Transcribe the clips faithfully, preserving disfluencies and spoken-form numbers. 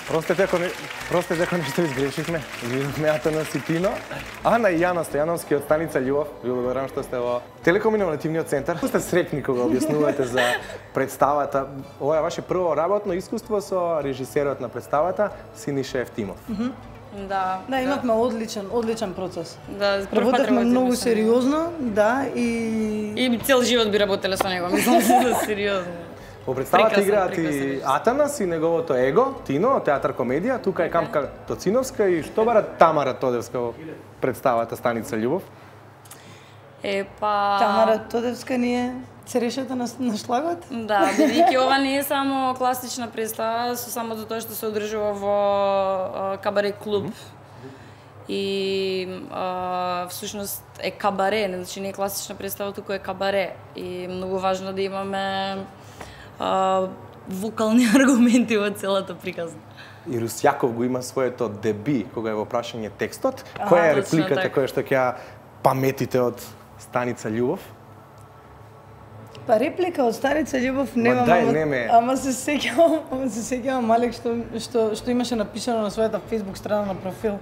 Простете ако не, простете ако нешто изгрешивме. Видовме Атанас и Тино. Ана и Јана Стојановски од станица Љубов. Ви благодарам што сте во Телеком-иновативниот центар. Сте среќни кога објаснувате за представата. Ова е ваше прво работно искуство со режисерот на представата Синиша Евтимов. Mm -hmm. Да, да, имавме одличен, одличен процес. Да, работевме многу сериозно, да, и и цел живот би работеле со него, мислам се сериозно. Во представата играат и Атанас и неговото его, Тино, театар комедија, тука е Камка Тоциновска и што бара Тамара Тодевска во представата Станица Љубов? Е, па... Тамара Тодевска ни е церешата на, на шлагот? Да, бидејќи ова не е само класична представа, со само за тоа што се одржува во кабаре клуб. Mm -hmm. И а, всушност е кабаре, значи не е класична представа, туку е кабаре. И многу важно да имаме а, вокални аргументи во целата приказна. И Русјаков го има своето деби, кога е во прашање текстот. Која е репликата која што ќе паметите од Станица Љубов? Па реплика од Станица Љубов нема, дај, ама, не ама се сеќавам, ама се сеќавам Малек што што што имаше напишано на својата Facebook страна на профил.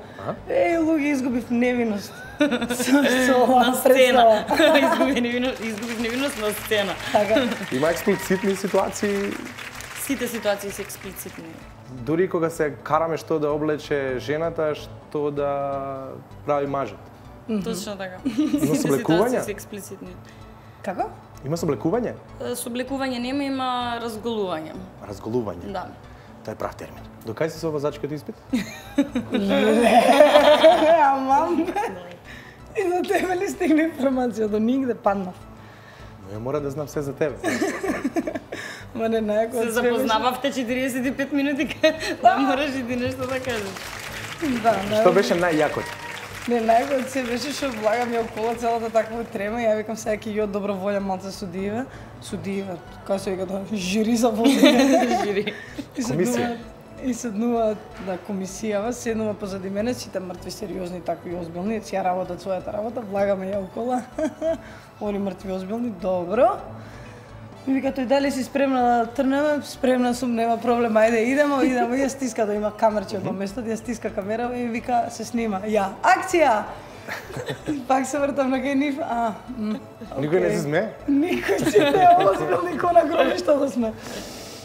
Е, луѓе, изгубив невиност. Со на сцена. Изгубив невиност, изгубив невиност на сцена. Така. Има експлицитни ситуации. Сите ситуации се експлицитни. Дури кога се караме што да облече жената, што да прави мажот. Mm -hmm. Точно така. Има соблекување? Се експлицитни. Како? Има соблекување? Соблекување нема, има разголување. Разголување? Да. Тоа е прав термин. До кај си со возачкиот испит? Амам. И до тебе ли стигне информација? До нигде паднав. Но ја мора да знам се за тебе. Ма не најако се запознававте четириесет и пет минути, да мораш и ти нешто да кажеш. Да, што беше најјакото? Не, најако од се беше што влагам ја околу целата таква трема и ја викам сега ќе ја добра волја малце судиеве. Судиеве, како се вика тоа, жири за волја. Жири. Комисија. И седнуваат на комисијава, седнува позади мене, сите мртви, сериозни, такви озбилни, си ја работат својата работа, влагаме ја окола. Они мртви, озбилни, добро. Ми вика тој дали си спремна да трнеме? Спремна сум, нема проблем, ајде идемо, идемо. И ја стиска да има камерче од местот, ја стиска камера и вика се снима. Ја, акција! Пак се вртам на кај нив. А, никој не се смее? Никој сите озбилни ко на гробиштето сме.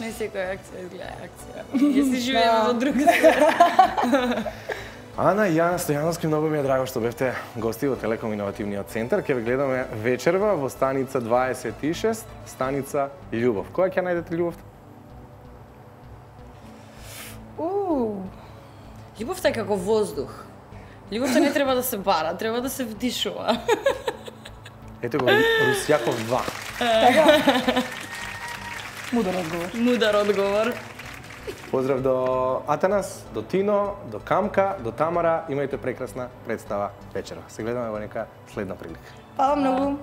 Не секоја акција изгледа акција. Ја си живееме во друга свет. Ана и Јана Стојановски, многу ми е драго што бевте гости во Телеком-иновативниот центар. Ќе ве гледаме вечерва во станица дваесет и шест, станица Љубов. Која ќе најдете љубовта? Уу. Љубовта е како воздух. Љубовта не треба да се бара, треба да се вдишува. Ето го Русјаков два. Така. Мудар одговор. Мудар одговор. Поздрав до Атанас, до Тино, до Камка, до Тамара. Имајте прекрасна представа вечерва. Се гледаме во нека следна прилика. Фала многу.